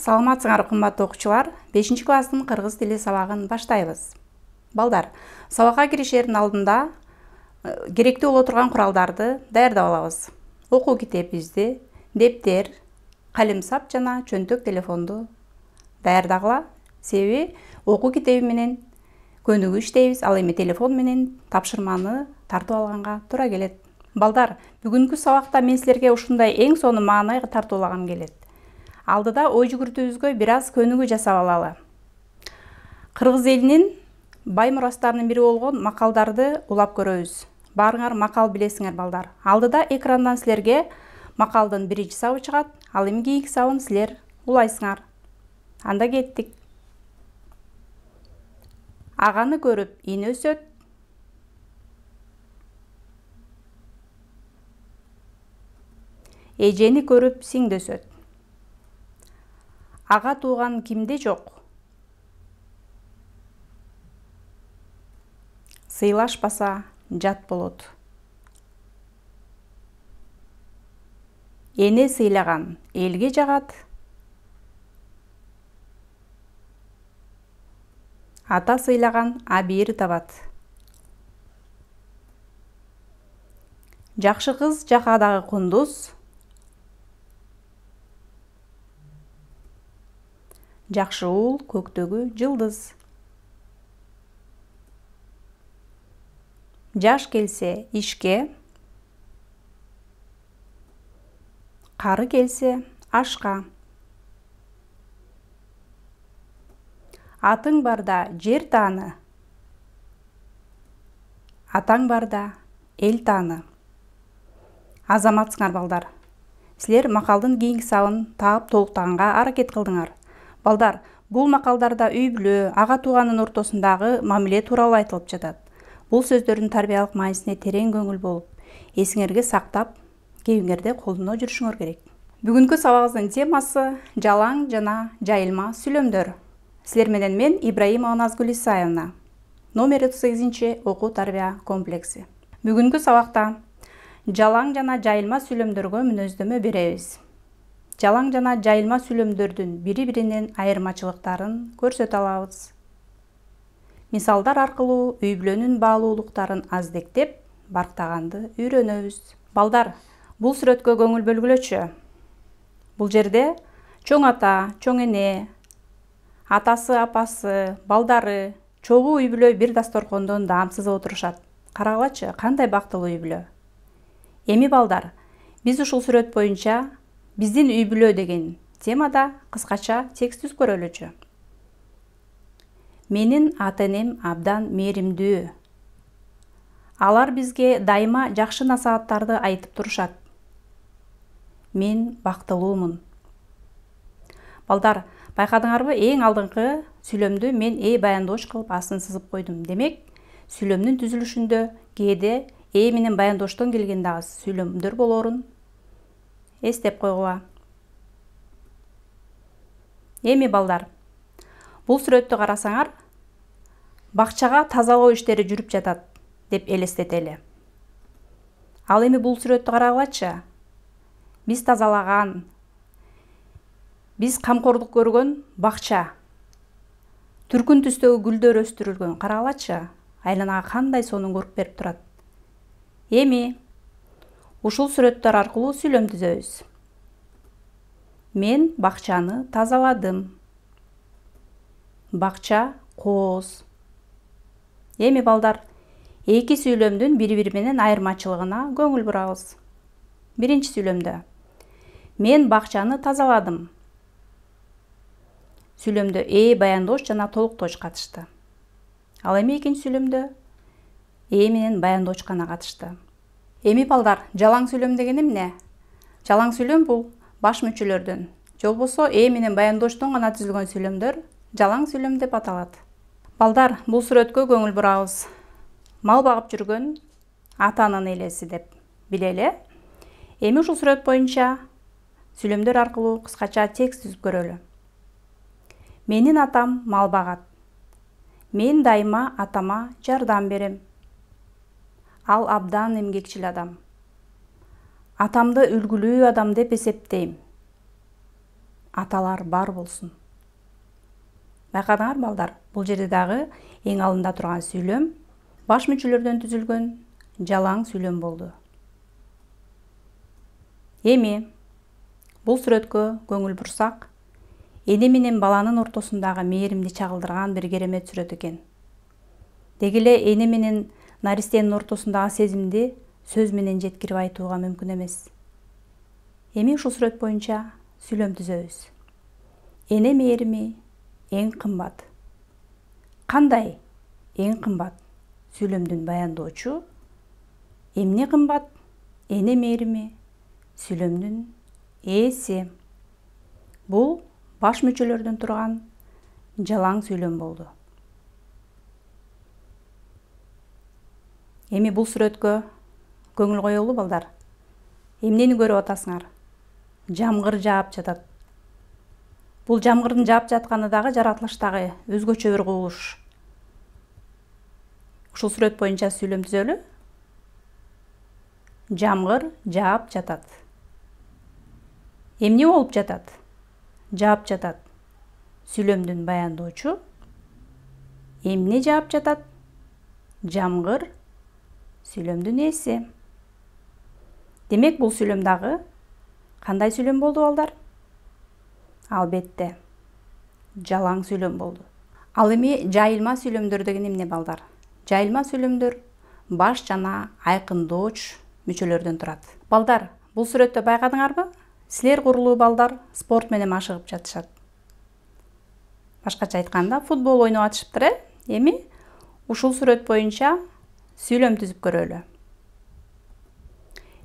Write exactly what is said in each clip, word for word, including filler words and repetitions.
Саламатсыңар кымбаттуу окуучулар. бешинчи класстын кыргыз тили сабагын баштайбыз. Балдар, сабакка киришердин алдында керектүү боло турган куралдарды даярдап алабыз. Окуу китебибизди, дептер, калемсап жана чөнтөк телефонду даярдагыла. Себеби окуу китеби менен көнүгүү иштейбиз, ал эми телефон менен тапшырманы тартып алганга туура келет. Балдар, бүгүнкү сабакта мен силерге ушундай эң сонун маанай тартуулагым келет. Алдыда ой жүгүртүүбүзгө бир аз көнүгүү жасап алалы. Кыргыз элинин бай мурастарынын бири болгон макалдарды улап көрөбүз. Баарыңар макал билесиңер, балдар. Алдыда экрандан силерге макалдын биринчи сабы чыгат, ал эми кийинки сабын силер улайсыңар. Анда кеттик. Аганы көрүп ине өсөт. Эжени көрүп сиңди өсөт. Ага тууган кимде жок? Сыйлашпаса жат болот. Эне сыйлаган элге жагат. Ата сыйлаган абийир табат. Жакшы кыз жакадагы кундуз. Жакшы уул көктөгү жылдыз. Жаш келсе ишке, кары келсе ашка. Атың барда жер тааны, атаң барда эл тааны. Азаматсыңар, балдар. Силер макалдын кийинки сабын таап толуктаганга аракет кылдыңар. Балдар, бул макалдарда үй бүлө, ага тууганын ортосундагы мамиле тууралуу айтылып жатат. Бул сөздөрдүн тарбиялык маанисине терең көңүл болуп, эсиңерге сактап, кийимиңерде колдоно жүрүшүңөр керек. Бүгүнкү сабагыбыздын темасы жалаң жана жайылма сүйлөмдөр. Силер менен мен Ибраимова Назгүл Исаевна. Номер отуз сегизинчи окуу тарбия комплекси. Бүгүнкү сабакта жалаң жана жайылма сүйлөмдөргө мүнөздөмө беребиз. Жалаң жана жайылма сүйлөмдөрдүн бири-биринин айырмачылыктарын көрсөтө алабыз. Мисалдар аркылуу үй бүлөнүн баалуулуктарын аздектеп, барктаганды үйрөнөбүз. Балдар, бул сүрөткө көңүл бөлгүлөчү. Бул жерде чоң ата, чоң эне, атасы, апасы, балдары, чогуу үй бүлө бир дасторкондон даам сызып отурушат. Карагылачы, кандай бактылуу үй бүлө. Эми балдар, биз ушул сүрөт боюнча биздин үй бүлө деген темада кыскача текст түзүп көрөлүчү. Менин ата-энем абдан мээримдүү. Алар бизге дайыма жакшы насааттарды айтып турушат. Мен бактылуумун. Балдар, байкадыңарбы, эң алдыңкы сүйлөмдү мен э баяндооч кылып астын сызып койдум. Демек, сүйлөмдүн түзүлүшүндө кээде э менен баяндооштон келген дагы сүйлөмдөр болоорун эстеп койгула. Эми балдар, бул сүрөттү карасаңар, бакчага тазалоо иштери жүрүп жатат деп элестетели. Ал эми бул сүрөттү карагылачы. Биз тазалаган, биз камкордук көргөн бакча. Түркүн түстөгү гүлдөр өстүрүлгөн. Карагылачы, айланага кандай сонун көрүп берип турат. Эми ушул сүрөттөр аркылуу сүйлөм түзөбүз. Мен бакчаны тазаладым. Бакча кооз. Эми балдар, эки сүйлөмдүн бири-бири менен айырмачылыгына көңүл бурабыз. Биринчи сүйлөмдө мен бакчаны тазаладым. Сүйлөмдө э баяндооч жана толуктооч катышты. Ал эми экинчи сүйлөмдө э менен баяндооч гана катышты. Эми балдар, жалаң сүйлөм деген эмне? Жалаң сүйлөм бул баш мүчөлөрдөн, же болбосо э менен баяндоочтон гана түзүлгөн сүйлөмдөр жалаң сүйлөм деп аталат. Балдар, бул сүрөткө көңүл бурабыз. Мал багып жүргөн атанын элеси деп билели. Эми ушул сүрөт боюнча сүйлөмдөр аркылуу кыскача текст түзүп көрөлү. Менин атам мал багат. Мен дайыма атама жардам берем. Ал абдан эмгекчил адам. Атамды үлгүлүү адам деп эсептейм. аталар бар болсун. Байкадыңар балдар, бул жерде дагы эң алдында турган сүйлөм баш мүчөлөрдөн түзүлгөн жалаң сүйлөм болду. Эми бул сүрөткө көңүл бурсак, эне менен баланын ортосундагы мээримди чагылдырган бир керемет сүрөт экен. Деги эле эне менен наристенин ортосундагы сезимди сөз менен жеткирип айтууга мүмкүн эмес. Эми ушул сүрөт боюнча сүйлөм түзөбүз. Эне мээрими эң кымбат. Кандай эң кымбат сүйлөмдүн баяндоочу? Эмне кымбат? Эне мээрими сүйлөмдүн ээси. Бул баш мүчөлөрдөн турган жалаң сүйлөм болду. Эми бул сүрөткө көңүл коелу балдар. Эмнени көрүп атасыңар? Жамгыр жаап жатат. Бул жамгырдын жаап жатканы дагы жаратылыштагы өзгөчө бир кубулуш. Ушул сүрөт боюнча сүйлөм түзөлү. Жамгыр жаап жатат. Эмне болуп жатат? Жаап жатат. Сүйлөмдүн баяндоочу. Эмне жаап жатат? Жамгыр. Сүйлөмдүн ээси. Демек бул сүйлөм дагы кандай сүйлөм болду балдар? Албетте, жалаң сүйлөм болду. Ал эми жайылма сүйлөмдөр деген эмне балдар? Жайылма сүйлөмдөр баш жана айкындооч мүчөлөрдөн турат. Балдар, бул сүрөттө байкадыңарбы? Силер курулуу балдар спорт менен машыгып жатышат. Башкача айтканда, футбол ойноп атышыптыр, э? Эми ушул сүрөт боюнча сүйлөм түзүп көрөлү.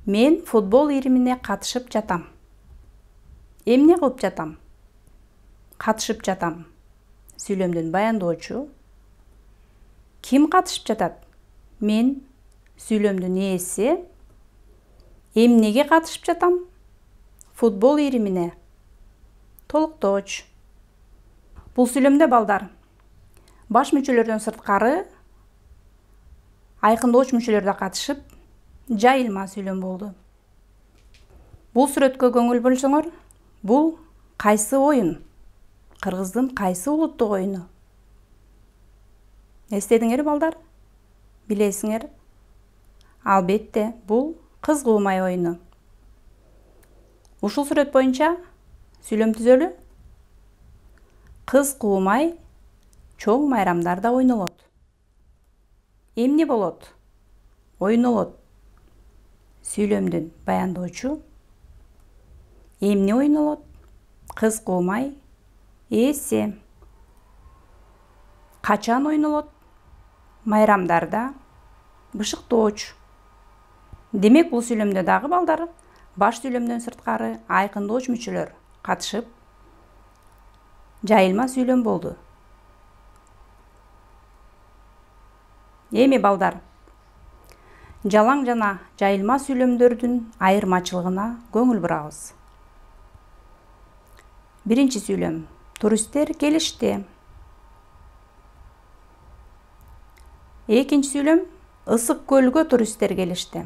Мен футбол иримине катышып жатам. Эмне кылып жатам? Катышып жатам. Сүйлөмдүн баяндоочу. Ким катышып жатат? Мен. Сүйлөмдүн ээси. Эмнеге катышып жатам? Футбол иримине. Толуктооч. Бул сүйлөмдө балдар баш мүчөлөрдөн сырткары айкындооч мүчөлөр да катышып, жайылма сүйлөм болду. Бул сүрөткө көңүл бурсоңор, бул кайсы оюн? Кыргыздын кайсы улуттук оюну? Эстедиңер балдар? Билесиңер? Албетте, бул кыз куумай оюну. Ушул сүрөт боюнча сүйлөм түзөлү. Кыз куумай чоң майрамдарда ойнолот. Эмне болот? Ойнолот. Сүйлөмдүн баяндоочу. Эмне ойнолот? Кыз куумай ээси. Качан ойнолот? Майрамдарда. Бышыктооч. Демек бул сүйлөмдө дагы балдар баш сүйлөмдөн сырткары айкындооч мүчөлөр катышып, жайылма сүйлөм болду. Эми балдар, жалаң жана жайылма сүйлөмдөрдүн айырмачылыгына көңүл бурабыз. Биринчи сүйлөм. Туристтер келишти. Экинчи сүйлөм. Ысык көлгө туристтер келишти.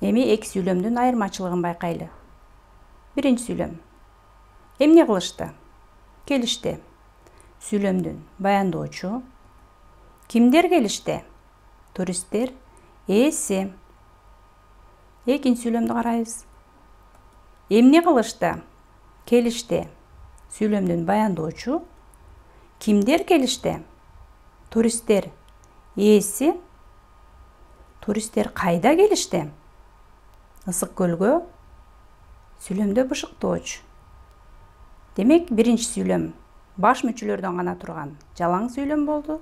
Эми эки сүйлөмдүн айырмачылыгын байкайлы. Биринчи сүйлөм. Эмне кылышты? Келишти. Сүйлөмдүн баяндоочу. Кимдер келишти? Туристтер ээси. Экинчи сүйлөмдү карайбыз. Эмне кылышты? Келишти. Сүйлөмдүн баяндоочу. Кимдер келишти? Туристтер ээси. Туристтер кайда келишти? Ысык көлгө. Сүйлөмдө бышыктооч. Демек, биринчи сүйлөм баш мүчөлөрдөн гана турган жалаң сүйлөм болду.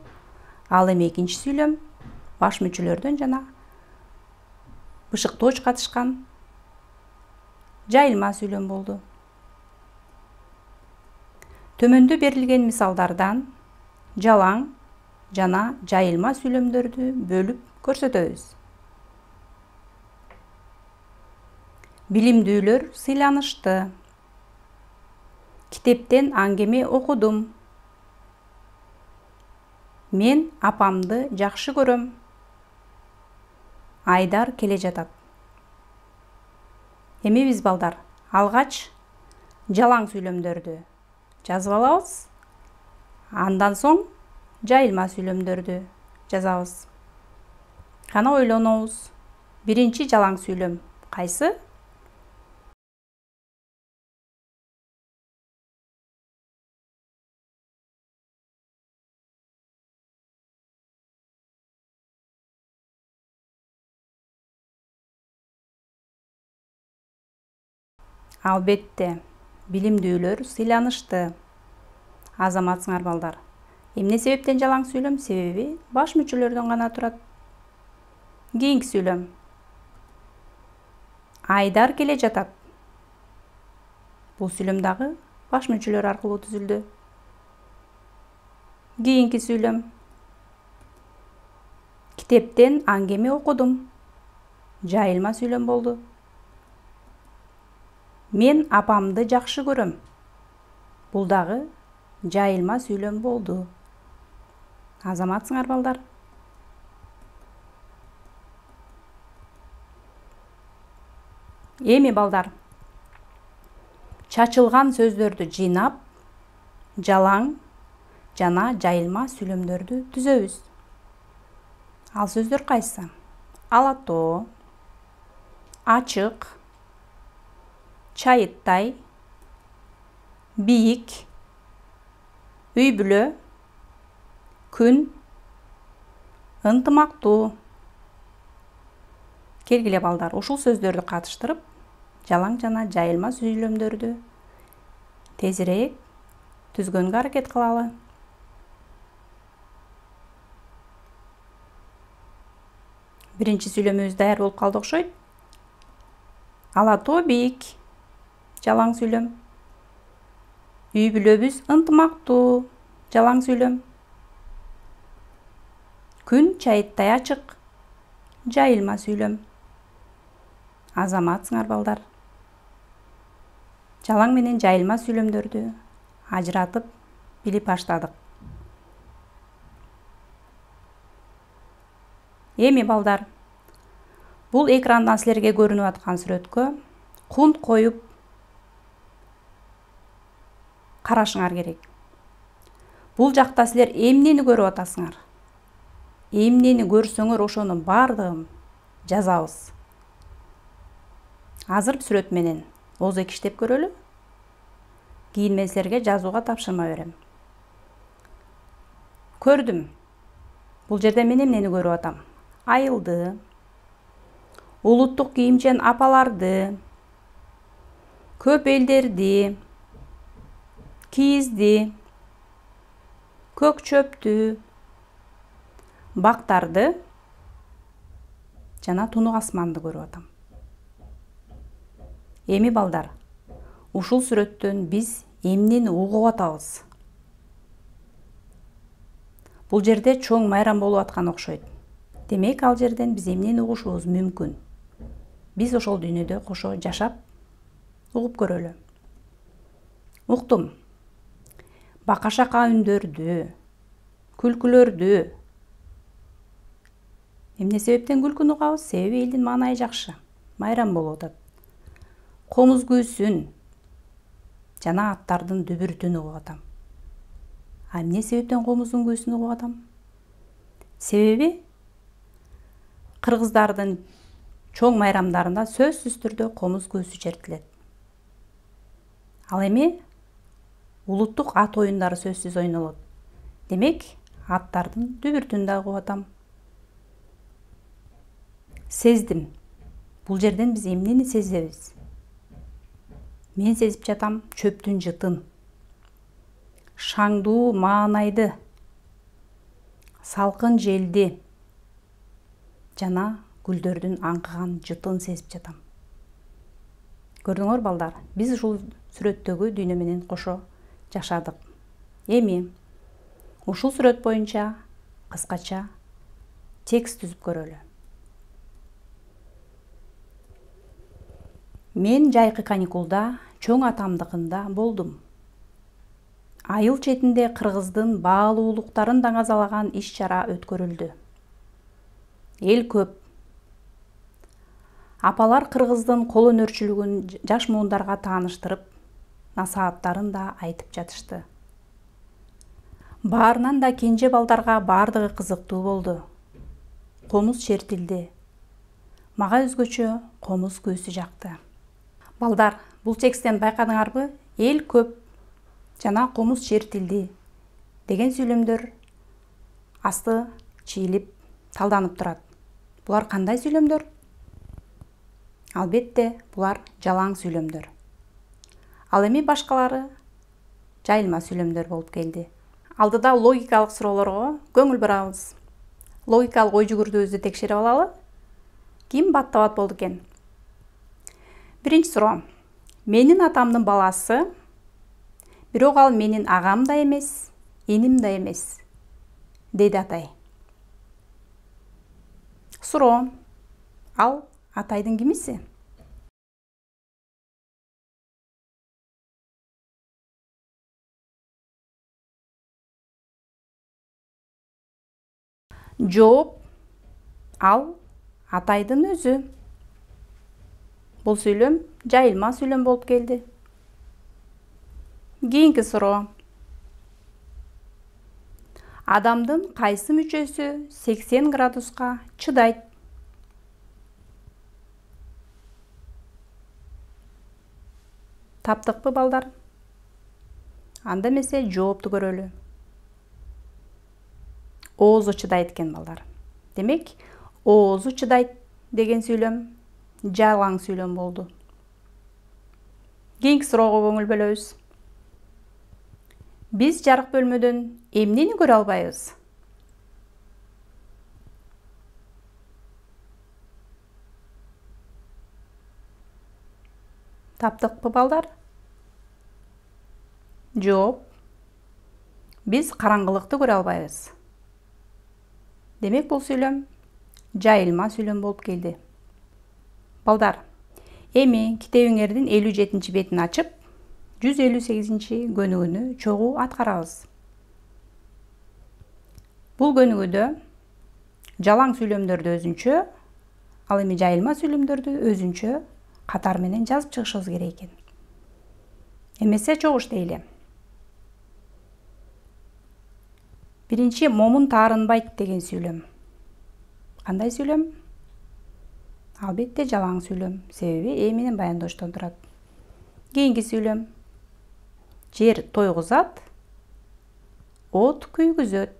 Ал эми экинчи сүйлөм баш мүчөлөрдөн жана бышыктооч катышкан жайылма сүйлөм болду. Төмөндө берилген мисалдардан жалаң жана жайылма сүйлөмдөрдү бөлүп көрсөтөбүз. Билимдүүлөр сыйланышты. Китептен аңгеме окудум. Мен апамды жакшы көрөм. Айдар келе жатат. Эми биз балдар алгач жалаң сүйлөмдөрдү жазып алабыз. Андан соң жайылма сүйлөмдөрдү жазабыз. Кана ойлонобуз. Биринчи жалаң сүйлөм кайсы? Албетте, билимдүүлөр сыйланышты. Азаматсыңар балдар. Эмне себептен жалаң сүйлөм? Себеби баш мүчөлөрдөн гана турат. Кийинки сүйлөм. Айдар келе жатат. Бул сүйлөм дагы баш мүчөлөр аркылуу түзүлдү. Кийинки сүйлөм. Китептен аңгеме окудум. Жайылма сүйлөм болду. Мен апамды жакшы көрөм. Бул дагы жайылма сүйлөм болду. Азаматсыңар балдар. Эми балдар, чачылган сөздөрдү жыйнап, жалаң жана жайылма сүйлөмдөрдү түзөбүз. Ал сөздөр кайсы? Алатоо, ачык, чайыттай, бийик, үй бүлө, күн, ынтымактуу. Келгиле балдар, ушул сөздөрдү катыштырып, жалаң жана жайылма сүйлөмдөрдү тезирээк түзгөнгө аракет кылалы. Биринчи сүйлөмүбүз даяр болуп калды окшойт. Алатоо бийик, жалаң сүйлөм. Үй бүлөбүз ынтымактуу, жалаң сүйлөм. Күн чайыттай ачык, жайылма сүйлөм. Азаматсыңар балдар. Жалаң менен жайылма сүйлөмдөрдү ажыратып билип баштадык. Эми балдар, бул экрандан силерге көрүнүп аткан сүрөткө кунт коюп карашыңар керек. Бул жакта силер эмнени көрүп атасыңар? Эмнени көрсөңөр ошонун бардыгын жазабыз. Азыр сүрөт менен озо иштеп көрөлү. Кийин мен силерге жазууга тапшырма берем. Көрдүм. Бул жерде мен эмнени көрүп атам? Айылды, улуттук кийимчен апаларды, көп элдерди, кийизди, көк чөптү, бактарды жана тунук асманды көрүп атам. Эми балдар, ушул сүрөттөн биз эмнени угуп атабыз? Бул жерде чоң майрам болуп аткан окшойт. Демек, ал жерден биз эмнени угушубуз мүмкүн? Биз ошол дүйнөдө кошо жашап, угуп көрөлү. Уктум. Бака-шака үндөрдү, күлкүлөрдү. Эмне себептен күлкүнү угабыз? Себеби элдин маанайы жакшы. Майрам болуп атат. Комуз күүсүн жана аттардын дүбүрүтүн угуп атам. А эмне себептен комуздун күүсүн угуп атам? Себеби кыргыздардын чоң майрамдарында сөзсүз түрдө комуз күүсү чертилет. Ал эми улуттук ат оюндары сөзсүз ойнолот. Демек, аттардын дүбүрүтүн да угуп атам. Сездим. Бул жерден биз эмнени сезебиз? Мен сезип жатам чөптүн жытын, шаңдуу маанайды, салкын желди жана гүлдөрдүн аңкыган жытын сезип жатам. Көрдүңөр балдар, биз ушул сүрөттөгү дүйнө менен кошо жашадык. Эми ушул сүрөт боюнча кыскача текст түзүп көрөлү. Мен жайкы каникулда чоң атамдыкында болдум. Айыл четинде кыргыздын баалуулуктарын даңазалаган иш-чара өткөрүлдү. Эл көп. Апалар кыргыздын кол өнөрчүлүгүн жаш муундарга тааныштырып, насааттарын да айтып жатышты. Баарынан да кенже балдарга бардыгы кызыктуу болду. Комуз чертилди. Мага өзгөчө комуз күүсү жакты. Балдар, бул тексттен байкадыңарбы? Эл көп жана комуз чертилди деген сүйлөмдөр асты чийилип талданып турат. Булар кандай сүйлөмдөр? Албетте, булар жалаң сүйлөмдөр. Ал эми башкалары жайылма сүйлөмдөр болуп келди. Алдыда логикалык суроолорго көңүл бурабыз. Логикалык ой жүгүртүүбүздү текшерип алалы. Ким баттабат болду экен? Биринчи суроо. Менин атамдын баласы, бирок ал менин агам да эмес, эним да эмес, дейди атай. Суроо. Ал атайдын кимиси? Жооп. Ал атайдын өзү. Бул сүйлөм жайылма сүйлөм болуп келди. Кийинки суроо. Адамдын кайсы мүчөсү сексен градуска чыдайт? Таптыкпы балдар? Анда эмесе жоопту көрөлү. Оозу чыдайт экен балдар. Демек, оозу чыдайт деген сүйлөм жалаң сүйлөм болду. Кийинки суроого көңүл бөлөбүз. Биз жарык бөлмөдөн эмнени көрө албайбыз? Таптыкпы балдар? Жооп. Биз караңгылыкты көрө албайбыз. Демек, бул сүйлөм жайылма сүйлөм болуп келди. Балдар, эми китебиңердин элүү жетинчи бетин ачып, жүз элүү сегизинчи көнүгүүнү чогуу аткарабыз. Бул көнүгүүдө жалаң сүйлөмдөрдү өзүнчө, ал эми жайылма сүйлөмдөрдү өзүнчө катар менен жазып чыгышыбыз керек экен. Эмесе чогуу иштейли. Биринчи момун таарынбайт деген сүйлөм. Кандай сүйлөм? Албетте жалаң сүйлөм, себеби э менен баяндооштон турат. Кийинки сүйлөм. Жер тойгузат, от күйгүзөт.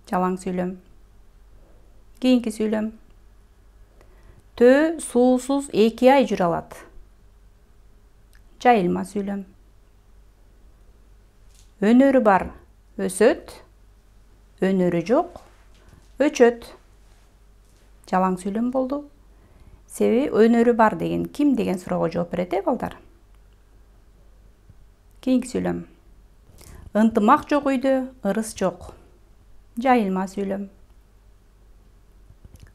Жалаң сүйлөм. Кийинки сүйлөм. Төө суусуз эки ай жүрө алат. Жайылма сүйлөм. Өнөрү бар өсөт, өнөрү жок өчөт. Жалаң сүйлөм болду. Себеби өнөрү бар деген ким деген суроого жооп берет э балдар. Кийинки сүйлөм. Ынтымак жок үйдө ырыс жок. Жайылма сүйлөм.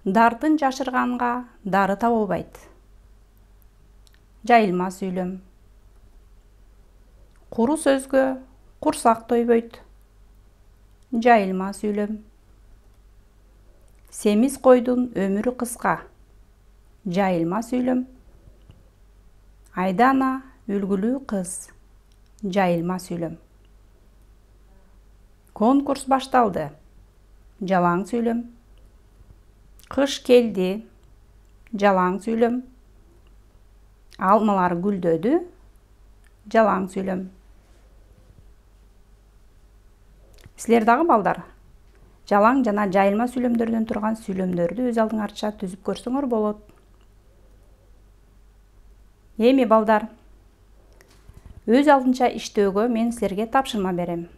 Дартын жашырганга дары табылбайт. Жайылма сүйлөм. Куру сөзгө курсак тойбойт. Жайылма сүйлөм. Семиз койдун өмүрү кыска. Жайылма сүйлөм. Айдана үлгүлүү кыз. Жайылма сүйлөм. Конкурс башталды. Жалаң сүйлөм. Кыш келди. Жалаң сүйлөм. Алмалар гүлдөдү. Жалаң сүйлөм. Силер дагы балдар, жалаң жана жайылма сүйлөмдөрдөн турган сүйлөмдөрдү өз алдыңарча түзүп көрсөңөр болот. Эми балдар, өз алдынча иштөөгө мен силерге тапшырма берем.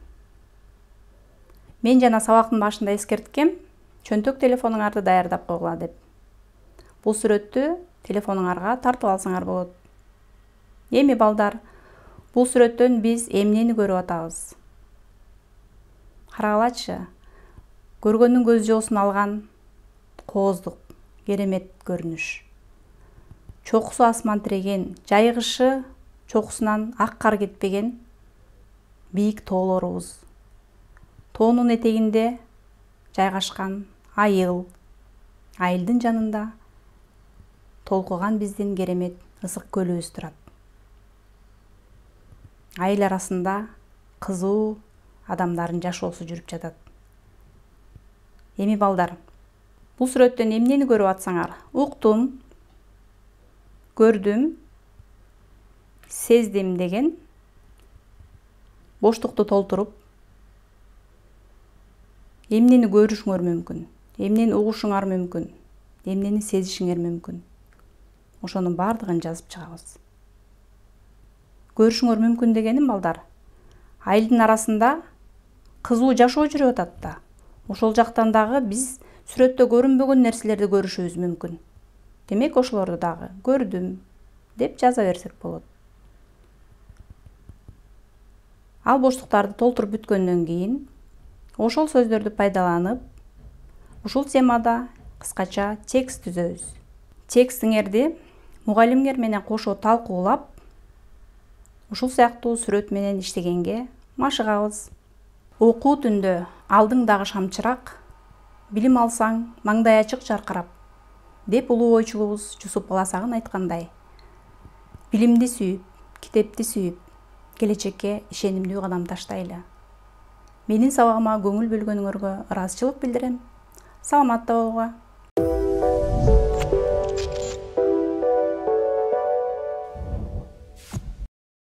Мен жана сабактын башында эскерткем, чөнтөк телефонуңарды даярдап койгула деп. Бул сүрөттү телефонуңарга тартып алсаңар болот. Эми балдар, бул сүрөттөн биз эмнени көрүп атабыз? Карагылачы, көргөндүн көз жоосун алган кооздук, керемет көрүнүш. Чокусу асман тиреген, жайгышы чокусунан ак кар кетпеген бийик тоолорубуз. Тоонун этегинде жайгашкан айыл, айылдын жанында толкуган биздин керемет ысык көлүбүз турат. айыл арасында кызуу адамдардын жашоосу жүрүп жатат. Эми балдар, бул сүрөттөн эмнени көрүп атсаңар? Уктум, көрдүм, сездим деген боштукту толтуруп, эмнени көрүшүңөр мүмкүн, эмнени угушуңар мүмкүн, эмнени сезишиңер мүмкүн. Ошонун бардыгын жазып чыгабыз. Көрүшүңөр мүмкүн дегеним балдар, айылдын арасында кызуу жашоо жүрүп атат да. Ошол жактан дагы биз сүрөттө көрүнбөгөн нерселерди көрүшүбүз мүмкүн. Демек ошолорду дагы көрдүм деп жаза берсек болот. Ал боштуктарды толтуруп бүткөндөн кийин ошол сөздөрдү пайдаланып, ушул темада кыскача текст түзөбүз. Текстиңерди мугалимиңер менен кошо талкуулап, ушул сыяктуу сүрөт менен иштегенге машыгабыз. Окуу түндө алдыңдагы шамчырак, билим алсаң маңдай ачык жаркырап деп улуу ойчулубуз Жусуп Баласагын айткандай, билимди сүйүп, китепти сүйүп, келечекке ишенимдүү кадам таштайлы. Менин сабагыма көңүл бөлгөнүңөргө ыраазычылык билдирем. Саламатта болууга.